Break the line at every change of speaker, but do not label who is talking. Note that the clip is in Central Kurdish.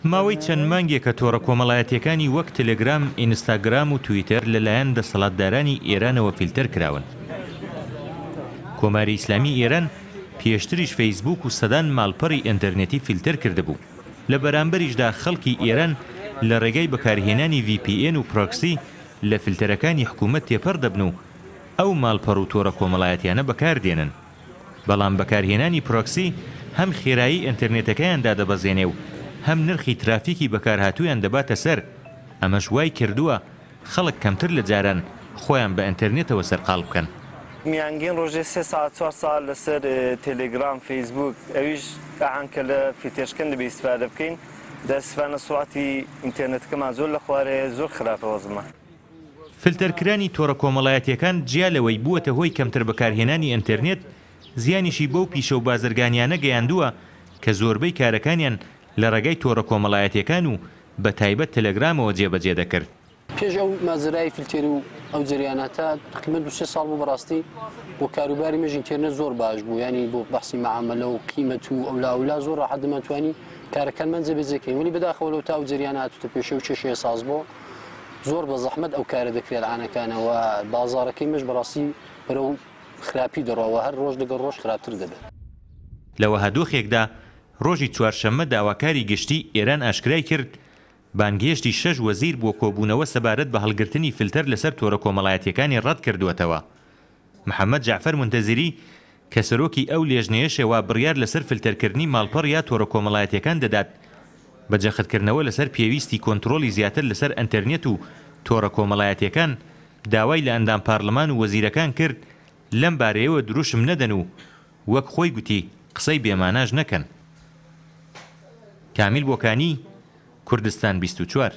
ماوەی چەند مانگێکە تۆڕە کۆمەڵایەتییەکانی وەک تەلەگرام، ئینستاگرام و تویتەر لەلایەن دەسەڵاتدارانی ئێرانەوە فیلتەر کراون. کۆماری ئیسلامی ئێران پێشتریش فەیسبووک و سەدان ماڵپەڕی ئینتەرنێتی فیلتەر کردبوو. لە بەرامبەریشدا خەڵکی ئێران لە ڕێگای بەکارهێنانی ڤی پی ئێن و پرۆکسی لە فلتەرەکانی حکوومەت تێپەڕ دەبن و ئەو ماڵپەڕ و تۆڕە کۆمەڵایەتیانە بەکاردێنن. بەڵام بەکارهێنانی پرۆکسی هەم خێرایی ئینتەرنێتەکەیان دادەبەزێنێ و هەم نرخی ترافیکی بەکارهاتوویان دەباتە سەر، ئەمەش وای کردووە خەڵک کەمتر لە جاران خۆیان بە ئینتەرنێتەوە سەرقاڵ بکەن.
میانگین ڕۆژێ سێ سەعات چوار سەعات لەسەر تێلێگرام فەیسبووک ئەویش ئەهان کە لە فیلتێرشکەن دەبێ ئیستفادە بکەین دەستفانە سوڕعەتی ئینتێرنێتەکەمان زۆر لە خوارەیە زۆر خراپە وەزعمان.
فلتەرکرانی تۆڕە کۆمەڵایەتییەکان جیا لەوەی بووەتە هۆی کەمتر بەکارهێنانی ئینتێرنێت، زیانیشی بەو پیشە و بازرگانییانە گەیاندووە کە زۆربەی کارەکانیان لە ڕێگای تۆڕە کۆمەڵایەتییەکان و بە تایبەت تەلەگرامەوە جێبەجێ دەکرد.
پێش ئەو ماجەرای فلتێر و ئەو جەریاناتە تقریبا دوو سێ ساڵ بوو بەڕاستی بۆ کاروباری مەژ ئینتێرنێت زۆر باش بوو یانی بۆ بەحسی مەعامەلە و قیمەت و ئەولا ئەولا زۆر ڕاحەت دەمانتوانی کارەکانمان جێبەجێ کەین وەلی بەداخەوە لەو تا ئەو جەریانە هاتووتە پێشێ و کێشەیە ساز بۆ زۆر بە زەحمەت ئەو کارە دەکرێت عانەکانە و بازاڕەکەی مەش بەڕاستی بەرەو خراپی دەڕوا و هەر ڕۆژ لەگەڵ ڕۆژ خراپتر دەبێت.
لە وەها دۆخێکدا ڕۆژی چوارشەممە داواکاری گشتی ئێران ئاشکرای کرد، بانگهێشتی شەش وەزیر بۆ کۆبوونەوە سەبارەت بە هەڵگرتنی فلتەر لەسەر تۆرە کۆمەڵایەتییەکانی ڕەت کردووەتەوە. محەمەد جەعفەر مونتەزیری کە سەرۆکی ئەو لێژنەیەشە وا بڕیار لەسەر فلتەرکردنی ماڵپەڕ یا تۆڕە کۆمەڵایەتییەکان دەدات، بە جەختکردنەوە لەسەر پێویستی کۆنترۆڵی زیاتر لەسەر ئەنتەرنێت و تۆڕە کۆمەڵایەتییەکان، داوای لە ئەندام پارلمان و وەزیرەکان کرد لەم بارەیەوە دروشم نەدەن و وەک خۆی گوتی قسەی بێماناش نەکەن. کامیل بۆکانی، کوردستان 24.